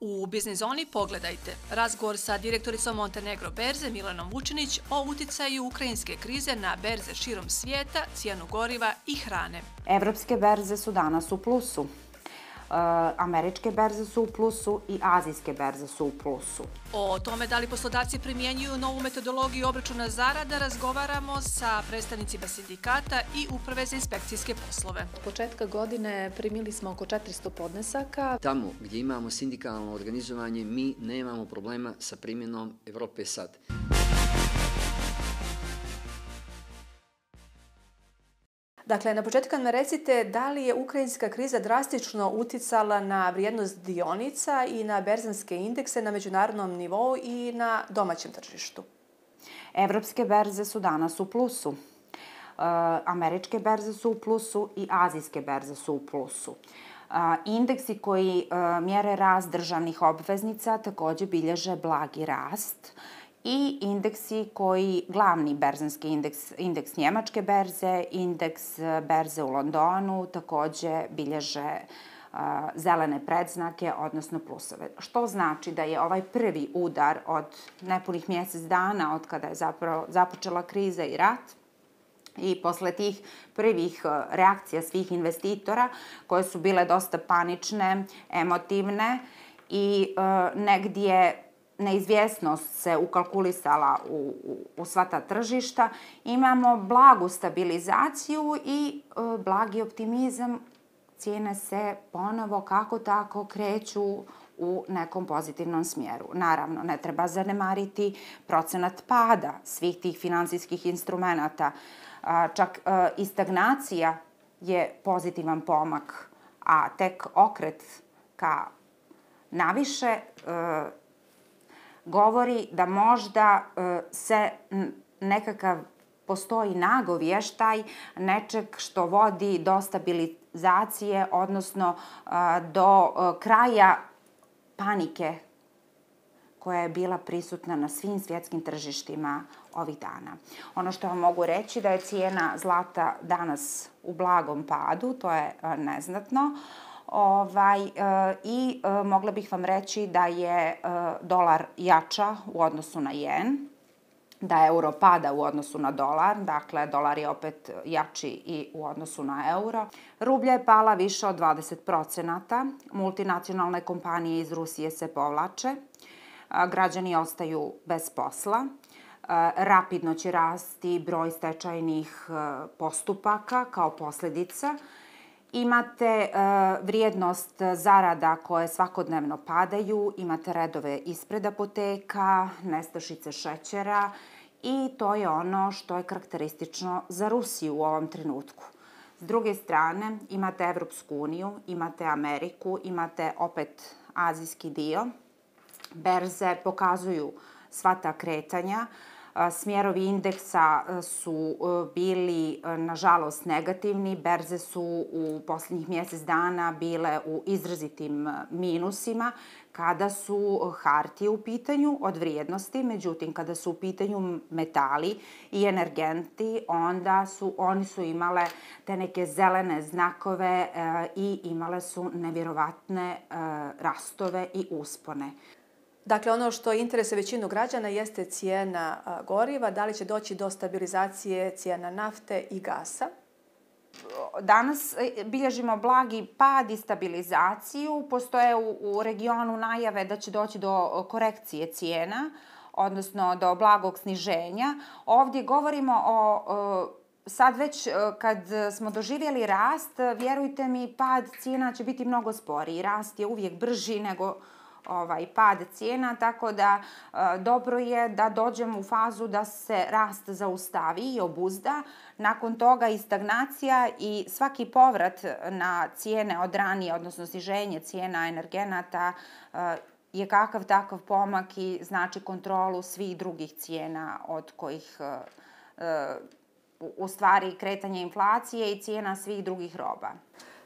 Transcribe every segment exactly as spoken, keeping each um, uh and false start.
U Biznis zoni pogledajte razgovor sa direktoricom Montenegro berze Milanom Vučinić o uticaju ukrajinske krize na berze širom svijeta, cijenu goriva i hrane. Evropske berze su danas u plusu. Američke berze su u plusu i azijske berze su u plusu. O tome da li poslodavci primjenjuju novu metodologiju obračuna zarada razgovaramo sa predstavnicima sindikata i Uprave za inspekcijske poslove. Od početka godine primili smo oko četiristo podnesaka. Tamo gdje imamo sindikalno organizovanje, mi nemamo problema sa primjenom Evrope sad. Dakle, na početku nam recite da li je ukrajinska kriza drastično uticala na vrijednost dionica i na berzanske indekse na međunarodnom nivou i na domaćem tržištu? Evropske berze su danas u plusu. Američke berze su u plusu i azijske berze su u plusu. Indeksi koji mjere rast državnih obveznica također bilježe blagi rast. I indeksi koji, glavni berzanski indeks, indeks njemačke berze, indeks berze u Londonu također bilježe uh, zelene predznake, odnosno plusove. Što znači da je ovaj prvi udar od nepunih mjesec dana, od kada je zapravo započela kriza i rat, i posle tih prvih reakcija svih investitora, koje su bile dosta panične, emotivne i uh, negdje neizvjesnost se ukalkulisala u, u, u sva ta tržišta, imamo blagu stabilizaciju i e, blagi optimizam. Cijene se ponovo kako tako kreću u nekom pozitivnom smjeru. Naravno, ne treba zanemariti procenat pada svih tih finansijskih instrumenata. A, čak e, i stagnacija je pozitivan pomak, a tek okret ka naviše e, govori da možda se nekakav postoji nagovještaj nečeg što vodi do stabilizacije, odnosno do kraja panike koja je bila prisutna na svim svjetskim tržištima ovih dana. Ono što vam mogu reći da je cijena zlata danas u blagom padu, to je neznatno. Ovaj, e, I e, mogla bih vam reći da je e, dolar jača u odnosu na jen, da euro pada u odnosu na dolar, dakle dolar je opet jači i u odnosu na euro. Rublja je pala više od dvadeset procenata, multinacionalne kompanije iz Rusije se povlače, a, građani ostaju bez posla. A, rapidno će rasti broj stečajnih a, postupaka kao posljedica. Imate uh, vrijednost zarada koje svakodnevno padaju, imate redove ispred apoteka, nestašice šećera i to je ono što je karakteristično za Rusiju u ovom trenutku. S druge strane, imate Evropsku uniju, imate Ameriku, imate opet azijski dio. Berze pokazuju sva ta kretanja. Smjerovi indeksa su bili, nažalost, negativni. Berze su u posljednjih mjesec dana bile u izrazitim minusima kada su hartije u pitanju od vrijednosti. Međutim, kada su u pitanju metali i energenti, onda su, oni su imale te neke zelene znakove e, i imale su nevjerovatne e, rastove i uspone. Dakle, ono što interesuje većinu građana jeste cijena goriva. Da li će doći do stabilizacije cijena nafte i gasa? Danas bilježimo blagi pad i stabilizaciju. Postoje u, u regionu najave da će doći do korekcije cijena, odnosno do blagog sniženja. Ovdje govorimo o... o sad već kad smo doživjeli rast, vjerujte mi, pad cijena će biti mnogo sporiji. Rast je uvijek brži nego ovaj pad cijena, tako da e, dobro je da dođemo u fazu da se rast zaustavi i obuzda. Nakon toga i stagnacija i svaki povrat na cijene od ranije, odnosno sniženje cijena energenata e, je kakav takav pomak i znači kontrolu svih drugih cijena od kojih e, e, u stvari kretanje inflacije i cijena svih drugih roba.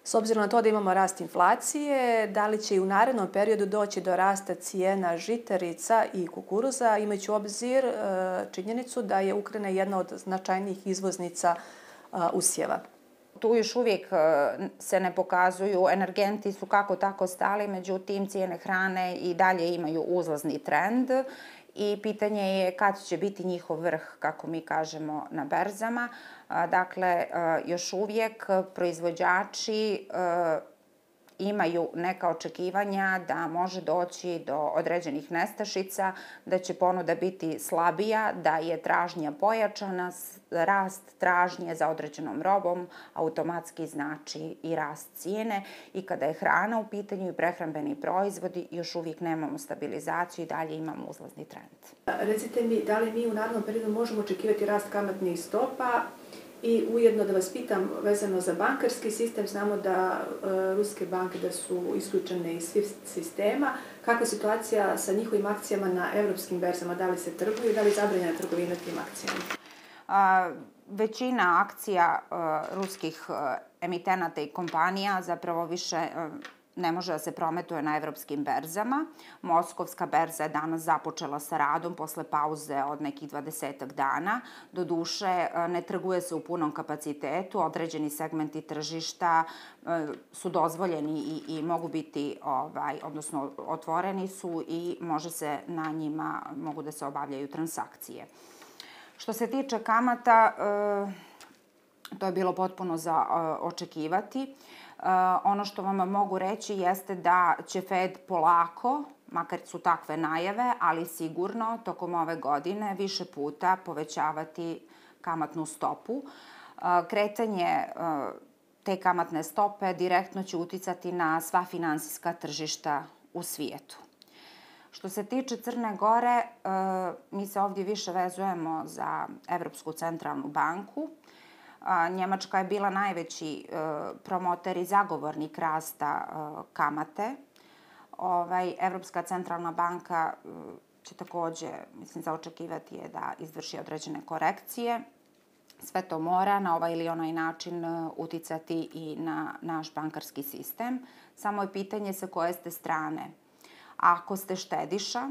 S obzirom na to da imamo rast inflacije, da li će i u narednom periodu doći do rasta cijena žitarica i kukuruza, imajući u obzir činjenicu da je Ukrajina jedna od značajnijih izvoznica usjeva? Tu još uvijek se ne pokazuju, energenti su kako tako stali, međutim cijene hrane i dalje imaju uzlazni trend i pitanje je kad će biti njihov vrh, kako mi kažemo, na berzama. Dakle, još uvijek proizvođači imaju neka očekivanja da može doći do određenih nestašica, da će ponuda biti slabija, da je tražnja pojačana, rast tražnje za određenom robom automatski znači i rast cijene i kada je hrana u pitanju i prehrambeni proizvodi još uvijek nemamo stabilizaciju i dalje imamo uzlazni trend. Recite mi, da li mi u narednom periodu možemo očekivati rast kamatnih stopa? I ujedno da vas pitam vezano za bankarski sistem, znamo da e, ruske banke da su isključene iz SWIFT sistema. Kakva je situacija sa njihovim akcijama na evropskim berzama? Da li se trguje i da li je zabranjena trgovina tim akcijama? A, većina akcija a, ruskih a, emitenata i kompanija zapravo više a, ne može da se prometuje na evropskim berzama. Moskovska berza je danas započela sa radom posle pauze od nekih dvadesetak dana. Doduše, ne trguje se u punom kapacitetu, određeni segmenti tržišta su dozvoljeni i, i mogu biti, ovaj, odnosno otvoreni su i može se na njima, mogu da se obavljaju transakcije. Što se tiče kamata, to je bilo potpuno za očekivati. Uh, ono što vam mogu reći jeste da će Fed polako, makar su takve najave, ali sigurno tokom ove godine više puta povećavati kamatnu stopu. Uh, kretanje uh, te kamatne stope direktno će uticati na sva finansijska tržišta u svijetu. Što se tiče Crne Gore, uh, mi se ovdje više vezujemo za Evropsku centralnu banku. Njemačka je bila najveći promoter i zagovornik rasta kamate. Ovaj, Evropska centralna banka će također, mislim, za očekivati je da izvrši određene korekcije. Sve to mora na ovaj ili onaj način uticati i na naš bankarski sistem. Samo je pitanje sa koje ste strane. Ako ste štediša,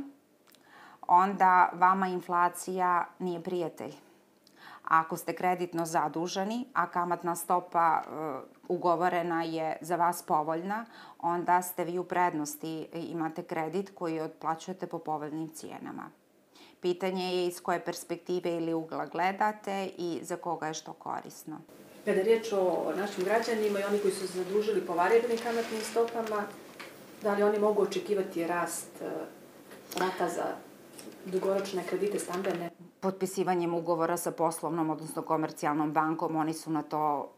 onda vama inflacija nije prijatelj. Ako ste kreditno zaduženi, a kamatna stopa uh, ugovorena je za vas povoljna, onda ste vi u prednosti, imate kredit koji otplaćujete po povoljnim cijenama. Pitanje je iz koje perspektive ili ugla gledate i za koga je što korisno. Kada je riječ o našim građanima i oni koji su se zadužili po varijabilnim kamatnim stopama, da li oni mogu očekivati rast uh, rata za dugoročne kredite stambene? Potpisivanjem ugovora sa poslovnom, odnosno komercijalnom bankom, oni su na to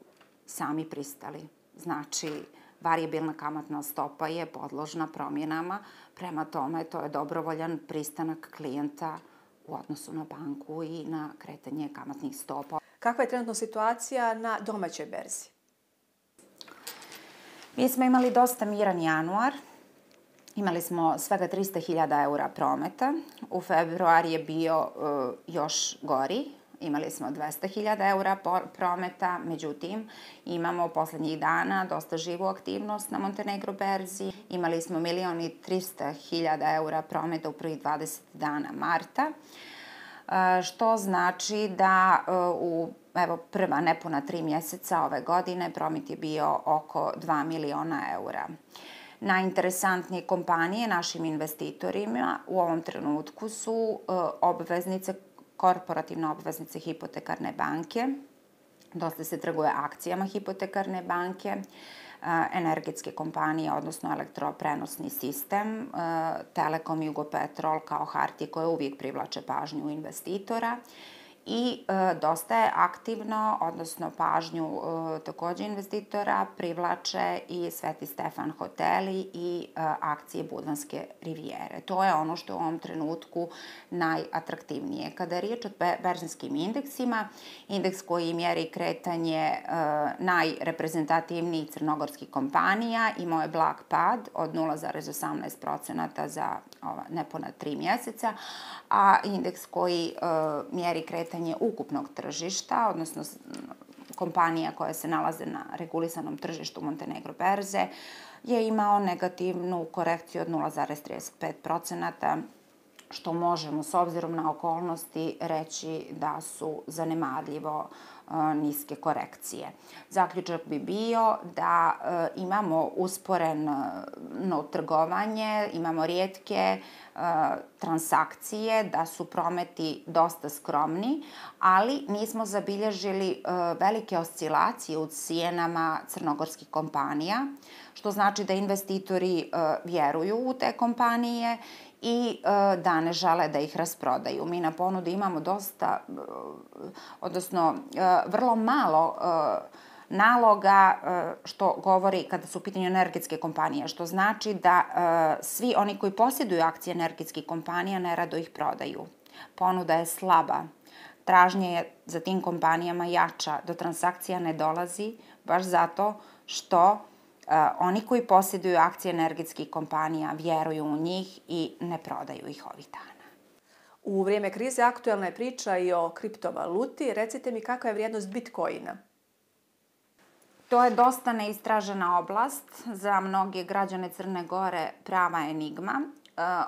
sami pristali. Znači, varijabilna kamatna stopa je podložna promjenama, prema tome to je dobrovoljan pristanak klijenta u odnosu na banku i na kretanje kamatnih stopa. Kakva je trenutno situacija na domaćoj berzi? Mi smo imali dosta miran januar. Imali smo svega trista hiljada eura prometa. U februar je bio uh, još gori. Imali smo dvesta hiljada eura prometa. Međutim, imamo poslednjih dana dosta živu aktivnost na Montenegro berzi. Imali smo milion i trista hiljada eura prometa u prvih dvadeset dana marta. Uh, što znači da uh, u evo, prva nepuna tri mjeseca ove godine promet je bio oko dva miliona eura. Najinteresantnije kompanije našim investitorima u ovom trenutku su uh, obveznice, korporativne obveznice hipotekarne banke. Dosta se trguje akcijama hipotekarne banke, uh, energetske kompanije, odnosno elektroprenosni sistem, uh, Telekom, Jugopetrol kao hartije koje uvijek privlače pažnju investitora. I e, dosta je aktivno, odnosno pažnju e, također investitora privlače i Sveti Stefan hoteli i e, akcije Budvanske rivijere. To je ono što je u ovom trenutku najatraktivnije. Kada je riječ o berzanskim indeksima, indeks koji mjeri kretanje e, najreprezentativnijih crnogorskih kompanija imao je blag pad od nula zarez osamnaest procenata za ova, nepuna tri mjeseca, a indeks koji e, mjeri kretanje ukupnog tržišta, odnosno kompanija koje se nalaze na regulisanom tržištu Montenegro berze, je imao negativnu korekciju od nula zarez trideset pet procenata, što možemo s obzirom na okolnosti reći da su zanemarljivo niske korekcije. Zaključak bi bio da imamo usporeno trgovanje, imamo rijetke transakcije, da su prometi dosta skromni, ali nismo zabilježili velike oscilacije u cijenama crnogorskih kompanija, što znači da investitori vjeruju u te kompanije i da ne žele da ih rasprodaju. Mi na ponudi imamo dosta, odnosno vrlo malo naloga, što govori kada su u pitanju energetske kompanije, što znači da svi oni koji posjeduju akcije energetskih kompanija nerado ih prodaju. Ponuda je slaba. Tražnja je za tim kompanijama jača, do transakcija ne dolazi, baš zato što oni koji posjeduju akcije energetskih kompanija vjeruju u njih i ne prodaju ih ovih dana. U vrijeme krize aktuelna je priča i o kriptovaluti. Recite mi kakva je vrijednost Bitcoina? To je dosta neistražena oblast. Za mnoge građane Crne Gore prava enigma.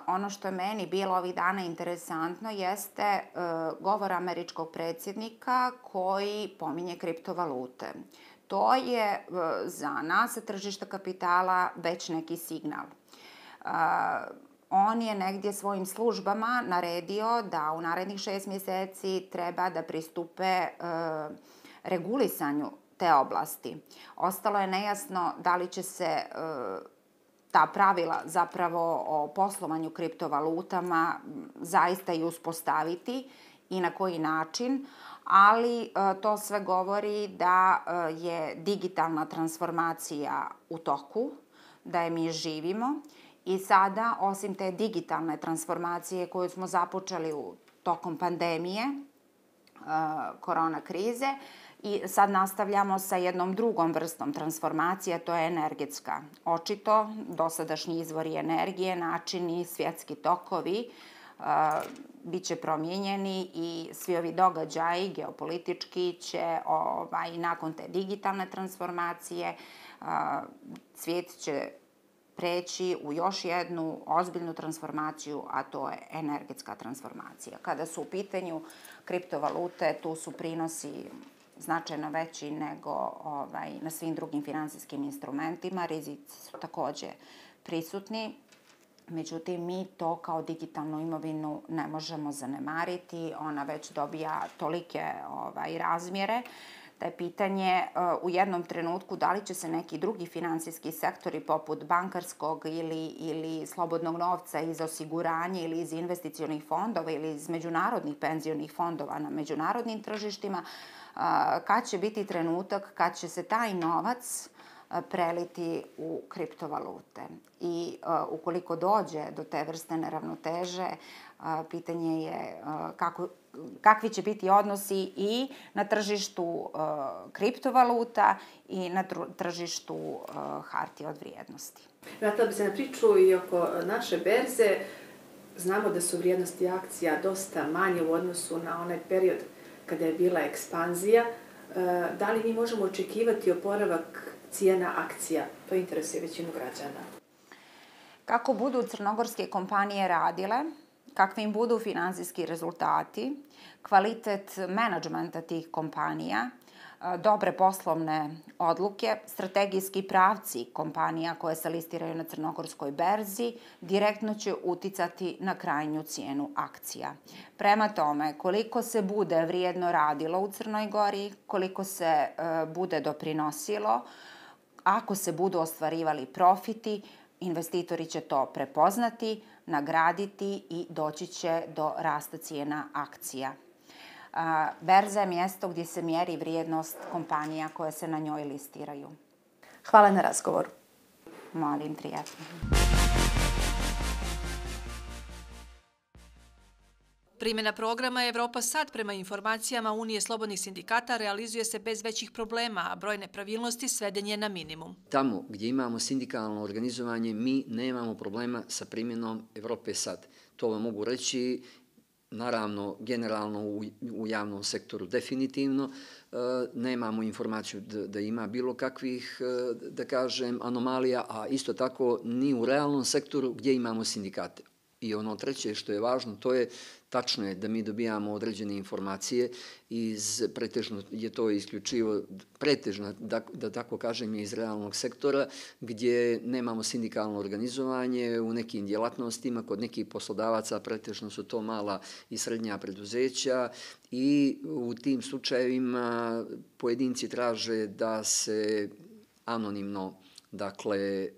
Ono što je meni bilo ovih dana interesantno jeste govor američkog predsjednika koji pominje kriptovalute. To je za nas sa tržišta kapitala već neki signal. On je negdje svojim službama naredio da u narednih šest mjeseci treba da pristupe regulisanju te oblasti. Ostalo je nejasno da li će se ta pravila zapravo o poslovanju kriptovalutama zaista i uspostaviti i na koji način, ali to sve govori da je digitalna transformacija u toku, da je mi živimo i sada, osim te digitalne transformacije koju smo započeli u tokom pandemije, korona krize, i sad nastavljamo sa jednom drugom vrstom transformacije, to je energetska. Očito, dosadašnji izvori energije, načini, svjetski tokovi bit će promijenjeni i svi ovi događaji geopolitički će ovaj, nakon te digitalne transformacije svijet će preći u još jednu ozbiljnu transformaciju, a to je energetska transformacija. Kada su u pitanju kriptovalute, tu su prinosi značajno veći nego ovaj, na svim drugim finansijskim instrumentima. Rizici su također prisutni. Međutim, mi to kao digitalnu imovinu ne možemo zanemariti. Ona već dobija tolike ovaj, razmjere da je pitanje uh, u jednom trenutku da li će se neki drugi finansijski sektori poput bankarskog ili, ili slobodnog novca iz osiguranja ili iz investicionih fondova ili iz međunarodnih penzionih fondova na međunarodnim tržištima, uh, kad će biti trenutak kad će se taj novac preliti u kriptovalute. I uh, ukoliko dođe do te vrste neravnoteže, uh, pitanje je uh, kako, kakvi će biti odnosi i na tržištu uh, kriptovaluta i na tržištu uh, hartija od vrijednosti. Vratila bi se na priču i oko naše berze. Znamo da su vrijednosti akcija dosta manje u odnosu na onaj period kada je bila ekspanzija. Uh, da li mi možemo očekivati oporavak cijena akcija? To interesuje većinu građana. Kako budu crnogorske kompanije radile, kakvi im budu finansijski rezultati, kvalitet menadžmenta tih kompanija, dobre poslovne odluke, strategijski pravci kompanija koje se listiraju na crnogorskoj berzi, direktno će uticati na krajnju cijenu akcija. Prema tome, koliko se bude vrijedno radilo u Crnoj Gori, koliko se uh, bude doprinosilo, ako se budu ostvarivali profiti, investitori će to prepoznati, nagraditi i doći će do rasta cijena akcija. Berza je mjesto gdje se mjeri vrijednost kompanija koje se na njoj listiraju. Hvala na razgovoru. Molim, prijatno. Primjena programa Evropa sad prema informacijama Unije slobodnih sindikata realizuje se bez većih problema, a broj nepravilnosti sveden je na minimum. Tamo gdje imamo sindikalno organizovanje, mi nemamo problema sa primjenom Evrope sad. To vam mogu reći, naravno, generalno u, u javnom sektoru definitivno. E, nemamo informaciju da, da ima bilo kakvih, da kažem, anomalija, a isto tako ni u realnom sektoru gdje imamo sindikate. I ono treće što je važno, to je tačno je da mi dobijamo određene informacije iz, pretežno je to isključivo, pretežno, da, da tako kažem, iz realnog sektora, gdje nemamo sindikalno organizovanje u nekim djelatnostima, kod nekih poslodavaca pretežno su to mala i srednja preduzeća i u tim slučajevima pojedinci traže da se anonimno, dakle,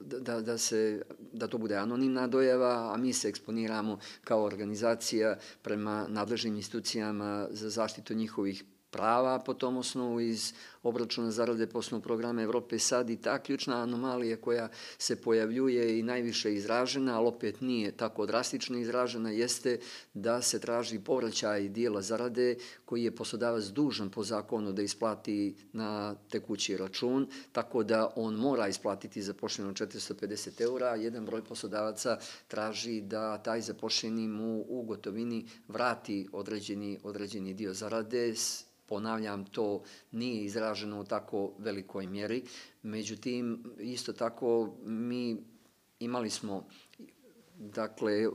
da, da, se, da to bude anonimna dojava, a mi se eksponiramo kao organizacija prema nadležnim institucijama za zaštitu njihovih prava po tom osnovu iz obračuna zarade po osnovu programa Evrope sad i ta ključna anomalija koja se pojavljuje i najviše izražena, ali opet nije tako drastično izražena, jeste da se traži povraćaj dijela zarade koji je poslodavac dužan po zakonu da isplati na tekući račun, tako da on mora isplatiti zaposleno četiristo pedeset eura, a jedan broj poslodavaca traži da taj zaposleni mu u gotovini vrati određeni, određeni dio zarade. Ponavljam, to nije izraženo u tako velikoj mjeri. Međutim, isto tako mi imali smo dakle,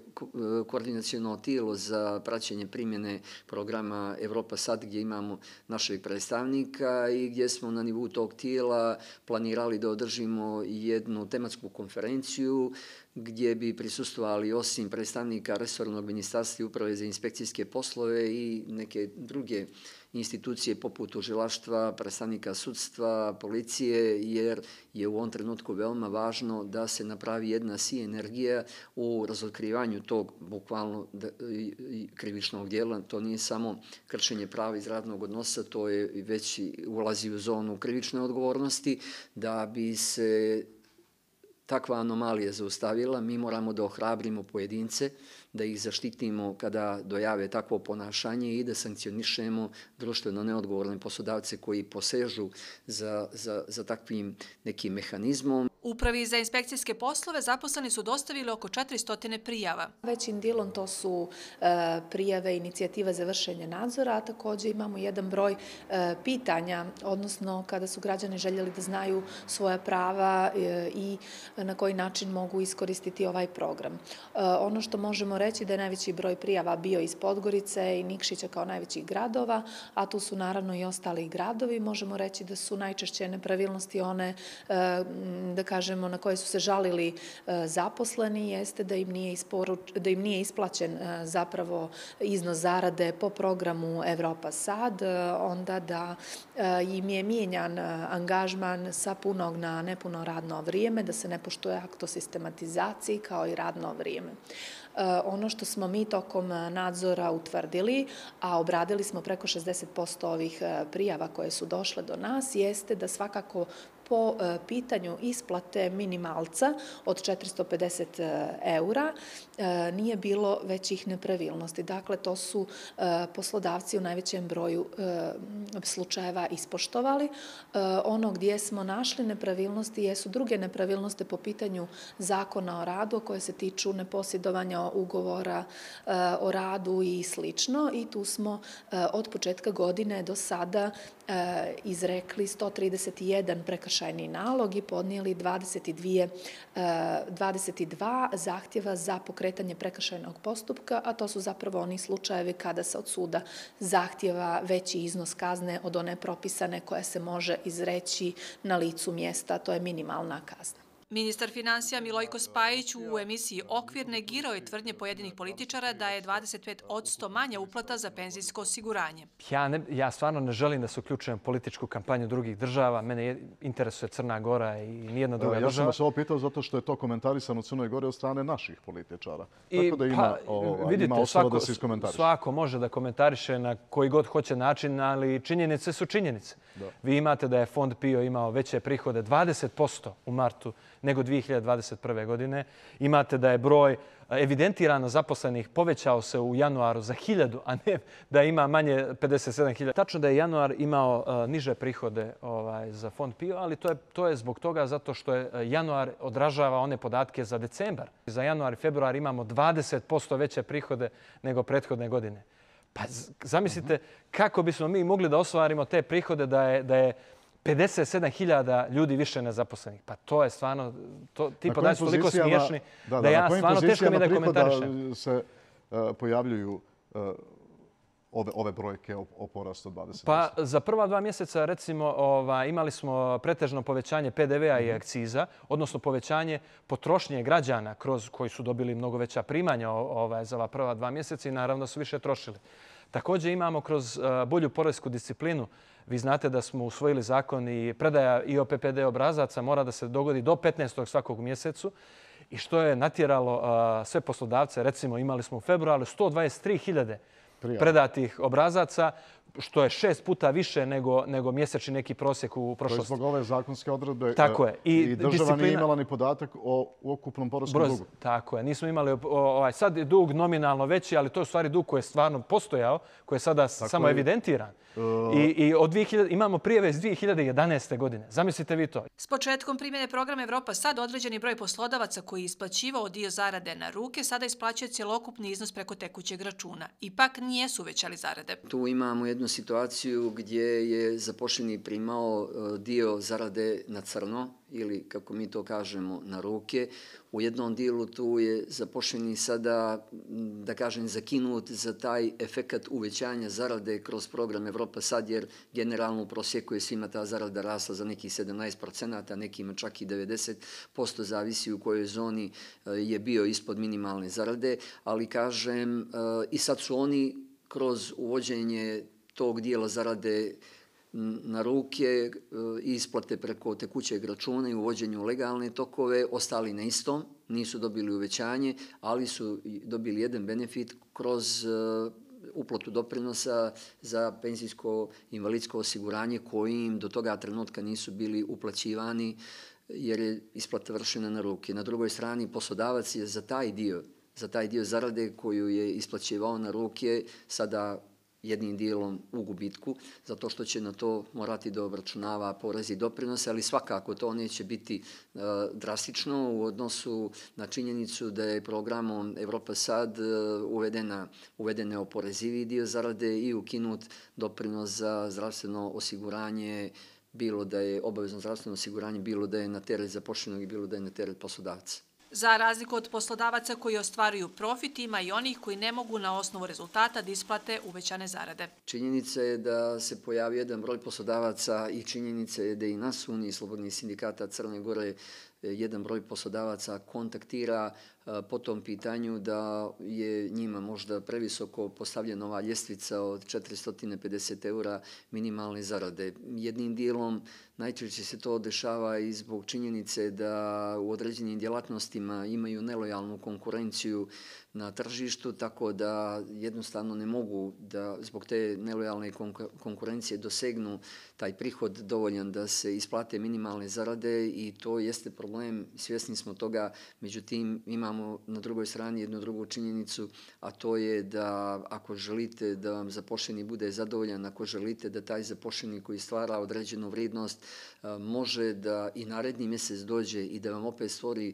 koordinaciono tijelo za praćenje primjene programa Evropa sad, gdje imamo našeg predstavnika i gdje smo na nivou tog tijela planirali da održimo jednu tematsku konferenciju gdje bi prisustvovali osim predstavnika resornog ministarstva i uprave za inspekcijske poslove i neke druge institucije poput tužilaštva, predstavnika sudstva, policije, jer je u ovom trenutku veoma važno da se napravi jedna sinergija u razotkrivanju tog bukvalno krivičnog djela. To nije samo kršenje prava iz radnog odnosa, to je već ulazi u zonu krivične odgovornosti. Da bi se takva anomalija zaustavila, mi moramo da ohrabrimo pojedince, da ih zaštitimo kada dojave takvo ponašanje i da sankcionišemo društveno neodgovorne poslodavce koji posežu za, za, za takvim nekim mehanizmom. Upravi za inspekcijske poslove zaposleni su dostavili oko četiristo prijava. Većim dijelom to su e, prijave inicijativa za vršenje nadzora, a također imamo jedan broj e, pitanja, odnosno kada su građani željeli da znaju svoja prava e, i na koji način mogu iskoristiti ovaj program. E, ono što možemo reći da je najveći broj prijava bio iz Podgorice i Nikšića kao najvećih gradova, a tu su naravno i ostali gradovi. Možemo reći da su najčešće nepravilnosti one, e, da kažemo, na koje su se žalili e, zaposleni, jeste da im nije, isporuč, da im nije isplaćen e, zapravo iznos zarade po programu Evropa sad, e, onda da e, im je mijenjan angažman sa punog na nepuno radno vrijeme, da se ne poštuje akt o sistematizaciji kao i radno vrijeme. Ono što smo mi tokom nadzora utvrdili, a obradili smo preko šezdeset posto ovih prijava koje su došle do nas, jeste da svakako po pitanju isplate minimalca od četiristo pedeset eura nije bilo većih nepravilnosti. Dakle, to su poslodavci u najvećem broju slučajeva ispoštovali. Ono gdje smo našli nepravilnosti jesu druge nepravilnosti po pitanju zakona o radu koje se tiču neposjedovanja ugovora o radu i slično. I tu smo od početka godine do sada izrekli sto trideset jedan prekršajni nalog i podnijeli dvadeset dva zahtjeva za pokretanje prekršajnog postupka, a to su zapravo oni slučajevi kada se od suda zahtjeva veći iznos kazne od one propisane koja se može izreći na licu mjesta, to je minimalna kazna. Ministar finansija Milojko Spajić u emisiji Okvir negirao je tvrdnje pojedinih političara da je dvadeset pet posto manja uplata za penzijsko osiguranje. Ja, ne, ja stvarno ne želim da se uključujem u političku kampanju drugih država. Mene interesuje Crna Gora i nijedna druga država. Ja sam vas ovo pitao zato što je to komentarisano u Crnoj Gori od strane naših političara. I, Tako da ima, pa, ova, vidite, ima osnova da se iskomentariše. Svako može da komentariše na koji god hoće način, ali činjenice su činjenice. Da. Vi imate da je Fond PIO imao veće prihode dvadeset posto u martu nego dvije hiljade dvadeset prve. godine. Imate da je broj evidentirano zaposlenih povećao se u januaru za hiljadu, a ne da ima manje pedeset sedam hiljada. Tačno da je januar imao uh, niže prihode ovaj, za Fond PIO, ali to je, to je zbog toga zato što je januar odražava one podatke za decembar. Za januar i februar imamo dvadeset posto veće prihode nego prethodne godine. Pa zamislite kako bismo mi mogli da ostvarimo te prihode da je, da je pedeset sedam hiljada ljudi više nezaposlenih. Pa to je stvarno, ti podaci su toliko smiješni da ja stvarno teško mi da komentarišem. Na se pojavljuju ove, ove brojke o, o porastu dvadeset posto? Pa za prva dva mjeseca recimo ova, imali smo pretežno povećanje P D V-a i akciza, odnosno povećanje potrošnje građana kroz koji su dobili mnogo veća primanja ovaj, za ova prva dva mjeseca i naravno su više trošili. Također imamo kroz bolju poresku disciplinu. Vi znate da smo usvojili zakon i predaja I O P P D obrazaca mora da se dogodi do petnaestog svakog mjesecu i što je natjeralo sve poslodavce. Recimo imali smo u februaru sto dvadeset tri hiljade predatih obrazaca, što je šest puta više nego, nego mjesečni neki prosjek u prošlosti. To je zbog ove zakonske odredbe. Tako je. I, i država disciplina... nije imala ni podatak o ukupnom poreskom Broz, dugu. Tako je. Nismo imali, ovaj, sad je dug nominalno veći, ali to je u stvari dug koji je stvarno postojao, koji je sada tako samo je, evidentiran. Uh... I, i od dvije hiljade, imamo prijave iz dvije hiljade jedanaeste. godine. Zamislite vi to. S početkom primjene programa Evropa sad određeni broj poslodavaca koji je isplaćivao dio zarade na ruke sada isplaćuje cjelokupni iznos preko tekućeg računa. Ipak nijesu uvećali zarade. Tu imamo jednu situaciju gdje je zaposleni primao dio zarade na crno ili, kako mi to kažemo, na ruke. U jednom dijelu tu je zaposleni sada, da kažem, zakinut za taj efekat uvećanja zarade kroz program Evropa sad, jer generalno u prosjeku je svima ta zarada rasla za nekih sedamnaest procenata, nekima čak i devedeset posto, zavisi u kojoj zoni je bio ispod minimalne zarade, ali kažem, i sad su oni kroz uvođenje tog dijela zarade na ruke, isplate preko tekućeg računa i uvođenju legalne tokove, ostali na istom, nisu dobili uvećanje, ali su dobili jedan benefit kroz uplatu doprinosa za penzijsko-invalidsko osiguranje koji im do toga trenutka nisu bili uplaćivani jer je isplata vršena na ruke. Na drugoj strani poslodavac je za taj dio, za taj dio zarade koju je isplaćivao na ruke sada jednim dijelom u gubitku, zato što će na to morati da obračunava porez i doprinose, ali svakako to neće biti uh, drastično u odnosu na činjenicu da je programom Evropa sad uh, uvedena, uvedene oporezivi dio zarade i ukinut doprinos za zdravstveno osiguranje, bilo da je obavezno zdravstveno osiguranje, bilo da je na teret zaposlenog i bilo da je na teret poslodavca. Za razliku od poslodavaca koji ostvaruju profit, ima i onih koji ne mogu na osnovu rezultata da isplate uvećane zarade. Činjenica je da se pojavi jedan broj poslodavaca i činjenica je da i nas Uniji slobodnih sindikata Crne Gore jedan broj poslodavaca kontaktira po tom pitanju da je njima možda previsoko postavljena ova ljestvica od četiristo pedeset eura minimalne zarade. Jednim dijelom najčešće se to dešava i zbog činjenice da u određenim djelatnostima imaju nelojalnu konkurenciju na tržištu, tako da jednostavno ne mogu da zbog te nelojalne konkurencije dosegnu taj prihod dovoljan da se isplate minimalne zarade i to jeste problem, svjesni smo toga, međutim imamo na drugoj strani jednu drugu činjenicu, a to je da ako želite da vam zaposleni bude zadovoljan, ako želite da taj zaposleni koji stvara određenu vrijednost može da i naredni mjesec dođe i da vam opet stvori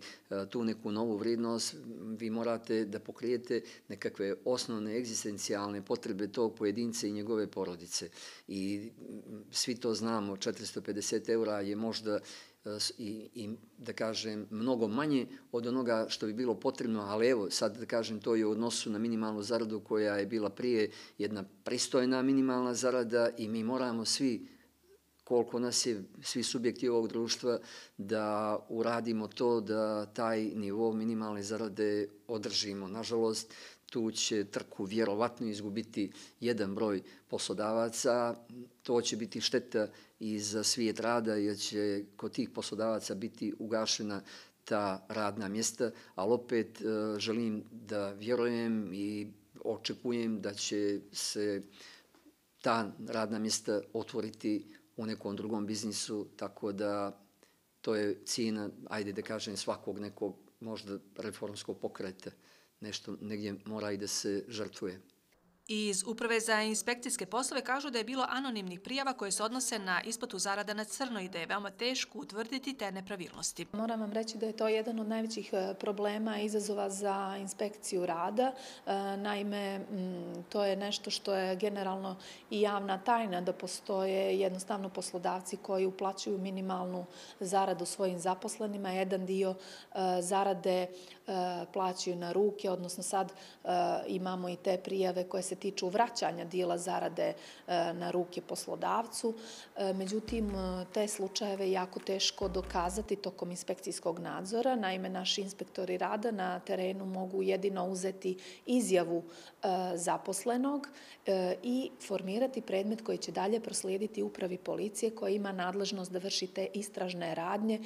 tu neku novu vrijednost, vi morate da pokrijete nekakve osnovne egzistencijalne potrebe tog pojedinca i njegove porodice. I svi to znamo, četiristo pedeset eura je možda i, i da kažem mnogo manje od onoga što bi bilo potrebno, ali evo sad da kažem to je u odnosu na minimalnu zaradu koja je bila prije jedna pristojna minimalna zarada i mi moramo svi koliko nas je, svi subjekti ovog društva, da uradimo to da taj nivo minimalne zarade održimo. Nažalost, tu će trku vjerovatno izgubiti jedan broj poslodavaca. To će biti šteta i za svijet rada jer će kod tih poslodavaca biti ugašena ta radna mjesta, ali opet želim da vjerujem i očekujem da će se ta radna mjesta otvoriti u nekom drugom biznisu, tako da to je cijena, ajde da kažem, svakog nekog možda reformskog pokreta. Nešto negdje mora i da se žrtvuje. Iz Uprave za inspekcijske poslove kažu da je bilo anonimnih prijava koje se odnose na isplatu zarada na crno i da je veoma teško utvrditi te nepravilnosti. Moram vam reći da je to jedan od najvećih problema i izazova za inspekciju rada. Naime, to je nešto što je generalno i javna tajna, da postoje jednostavno poslodavci koji uplaćuju minimalnu zaradu svojim zaposlenima. Jedan dio zarade plaćaju na ruke, odnosno sad imamo i te prijave koje se tiču vraćanja dijela zarade na ruke poslodavcu. Međutim, te slučajeve je jako teško dokazati tokom inspekcijskog nadzora. Naime, naši inspektori rada na terenu mogu jedino uzeti izjavu zaposlenog i formirati predmet koji će dalje proslijediti upravi policije koja ima nadležnost da vrši te istražne radnje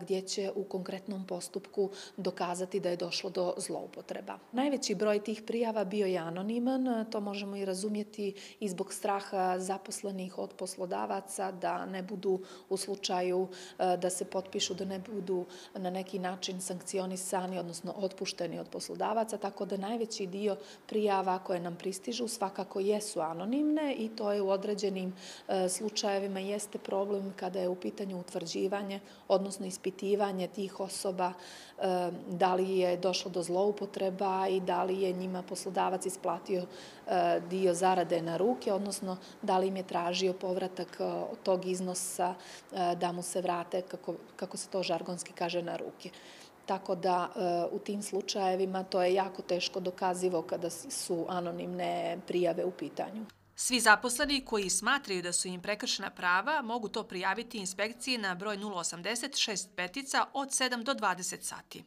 gdje će u konkretnom postupku dokazati da je došlo do zloupotreba. Najveći broj tih prijava bio je anoniman, to možemo i razumjeti i zbog straha zaposlenih od poslodavaca da ne budu u slučaju da se potpišu, da ne budu na neki način sankcionisani, odnosno otpušteni od poslodavaca, tako da najveći dio prijava koje nam pristižu svakako jesu anonimne i to je u određenim slučajevima jeste problem kada je u pitanju utvrđivanje, odnosno ispitivanje tih osoba, da li je došlo do zloupotreba i da li je njima poslodavac isplatio dio zarade na ruke, odnosno da li im je tražio povratak tog iznosa da mu se vrate, kako, kako se to žargonski kaže, na ruke. Tako da u tim slučajevima to je jako teško dokazivo kada su anonimne prijave u pitanju. Svi zaposleni koji smatraju da su im prekršena prava mogu to prijaviti inspekciji na broj nula osamdeset šest petica od sedam do dvadeset sati.